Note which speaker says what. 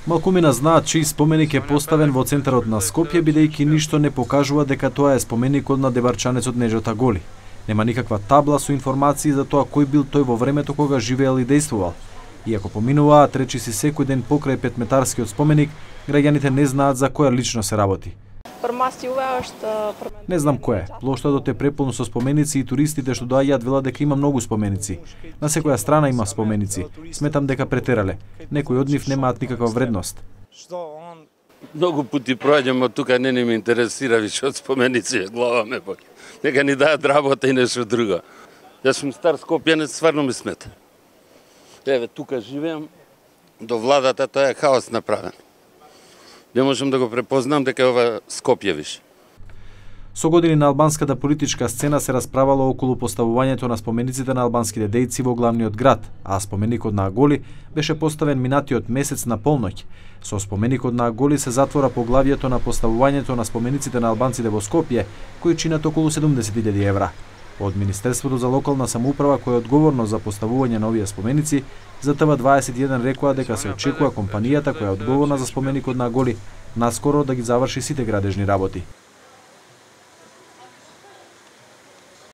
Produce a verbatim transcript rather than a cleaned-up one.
Speaker 1: Малкумина знаат чиј споменик е поставен во центарот на Скопје, бидејќи ништо не покажува дека тоа е споменикот на деварчанецот Неџета Голи. Нема никаква табла со информации за тоа кој бил тој во времето кога живеел и действувал. Иако поминуваат речиси секој ден покрај петметарскиот споменик, граѓаните не знаат за која лично се работи. Не знам кој е. Плоштадот е преполно со споменици и туристите што доаѓаат велат дека има многу споменици. На секоја страна има споменици. Сметам дека претерале. Некои од нив немаат никаква вредност.
Speaker 2: Многу пати проаѓам од тука, не не ме интересира више од споменици, глава ме боли. Нека ни даат работа и нешто друго. Јас сум стар скопјанец, стварно ми смета. Еве, тука живеам, до владата тоа е хаос направен. Не можам да го препознам дека е ова Скопје више.
Speaker 1: Со години на албанската политичка сцена се расправало околу поставувањето на спомениците на албанските дејци во главниот град, а споменикот на Аголи беше поставен минатиот месец на полноќ. Со споменикот на Аголи се затвора поглавието на поставувањето на спомениците на албанците во Скопје, кои чинат околу седумдесет илјади евра. Од Министерството за локална самоуправа, кој е одговорно за поставување на овие споменици, за Т В дваесет и еден рекоа дека се очекува компанијата која е одговорна за споменикот на Аголи наскоро да ги заврши сите градежни работи.